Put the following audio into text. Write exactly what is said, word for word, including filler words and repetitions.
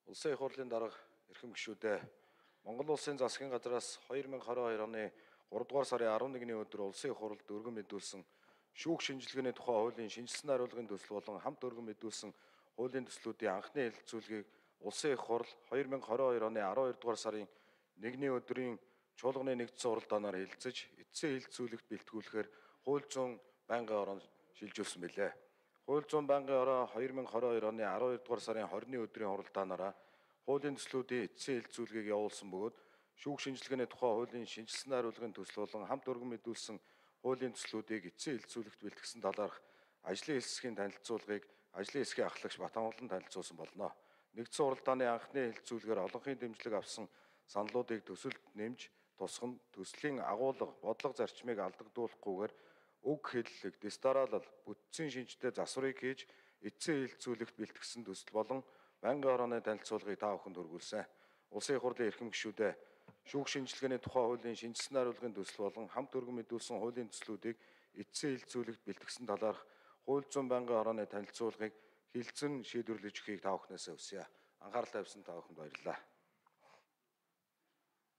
Улсын их хурлын дарга эрхэм гишүүдээ Монгол улсын засгийн газраас хоёр мянга хорин хоёр оны гуравдугаар сарын арван нэгний өдөр улсын их хурлд өргөн мэдүүлсэн шүүх шинжилгээний тухай хуулийн шинжилсэн хариулгын төсөл болон хамт өргөн мэдүүлсэн хуулийн төслүүдийн анхны хэлэлцүүлгийг улсын их хурл хоёр мянга хорин хоёр оны арван хоёрдугаар сарын нэгний өдрийн чуулганы нэгдсэн уралдаанаар хэлэлцэж эцсийн хэлэлцүүлэгт бэлтгүүлэхээр хууль зүйн байнгын орон шилжүүлсэн билээ. Хууль зүйн байнгын ороо хоёр мянга хорин хоёр оны арван хоёрдугаар сарын двадцатны өдрийн уралдаанаараа хуулийн төслүүдийн эцсийн хэлэлцүүлгийг явуулсан бөгөөд шүүх шинжилгээний тухай хуулийн шинжилсэн хариулгын төсөл болон хамт өргөн мэдүүлсэн хуулийн төслүүдийг эцсийн хэлэлцүүлэгт бэлтгэсэн талаарх ажлын хэсгийн танилцуулгыг ажлын хэсгийн ахлагч Батамглан танилцуулсан болно. Нэгдсэн уралдааны анхны хэлэлцүүлгээр олонхын дэмжлэг авсан саналуудыг төсөлд нэмж тусган төслийн агуулга, бодлого зарчмыг алдагдуулахгүйгээр үг хэллэг, дистаралал, бүтцийн шинжтэй засварыг хийж эцсийн хэлэлцүүлэгт бэлтгэсэн төсөл болон байнгын орооны танилцуулгыг та бүхэнд хүргүүлсэн. Улсын их хурлын эрхэм гишүүдээ шүүх шинжилгээний тухай хуулийн шинжилсэн хариулгын төсөл болон хамт өргөн мэдүүлсэн хуулийн төслүүдийг эцсийн хэлэлцүүлэгт бэлтгэсэн талаарх хууль зүйн байнгын орооны танилцуулгыг хилцэн шийдвэрлэж өгөхийг та бүхнээс хүсье. Анхаарал тавьсан та бүхэнд баярлалаа.